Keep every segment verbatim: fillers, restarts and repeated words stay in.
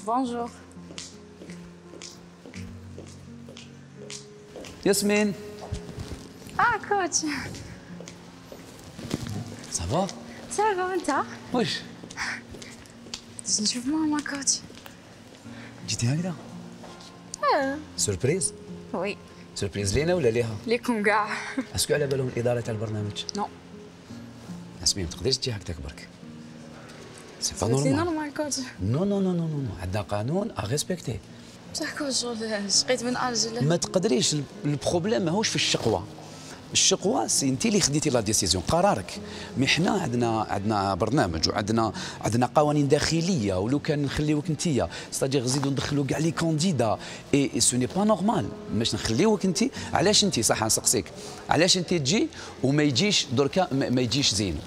بونجور. ياسمين. اه كوتش. صافا؟ صافا انت؟ واش؟ باش نشوف ماما كوتش. جيتي هكذا؟ اه سوربريز؟ وي. سوربريز لينا ولا ليها؟ ليكم كاع. اسكو على بالهم الاداره تاع البرنامج؟ نو. ياسمين ما تقدريش تجي هكذاك برك. سي با سي نورمال. نورمال كوتش. نو نو نو نو نو عندنا قانون ا ريسبكتي. بصح كوتش شغل شقيت من اجل. ما تقدريش، البروبليم ماهوش في الشقوه. الشقوه سي انت اللي خديتي لا ديسيزيون، قرارك. مي حنا عندنا عندنا برنامج وعندنا عندنا قوانين داخليه، ولو كان نخليوك انت ستادير نزيدو ندخلوا كاع لي كانديدا اي سو ني با نورمال. باش نخليوك انت، علاش انت صح نسقسيك علاش انت تجي وما يجيش دركا ما يجيش زين؟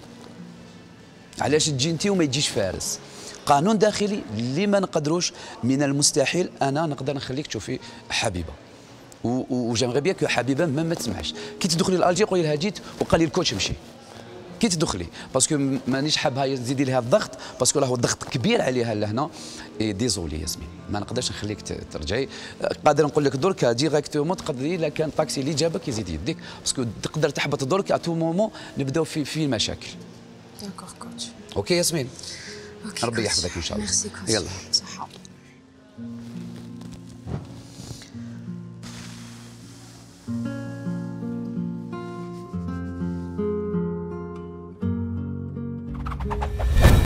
علاش تجي انت وما يجيش فارس؟ قانون داخلي اللي ما نقدروش، من المستحيل انا نقدر نخليك تشوفي حبيبه. وجامغي بيان كو حبيبه ما, ما تسمعش كي تدخلي لالجي قولي لها جيت وقال لي الكوتش مشي كي تدخلي، باسكو مانيش حابها تزيدي لها الضغط، باسكو راهو الضغط كبير عليها لهنا. اي ديزولي ياسمين ما نقدرش نخليك ترجعي. قادر نقول لك درك ديريكتومون تقدري، الا كان طاكسي اللي جابك يزيد يديك، باسكو تقدر تحبط درك ا تو مومون نبداو في في مشاكل. داكور كوتش. اوكي ياسمين. اوكي ربي يحفظك ان شاء الله. ميرسي كوتش. يلا.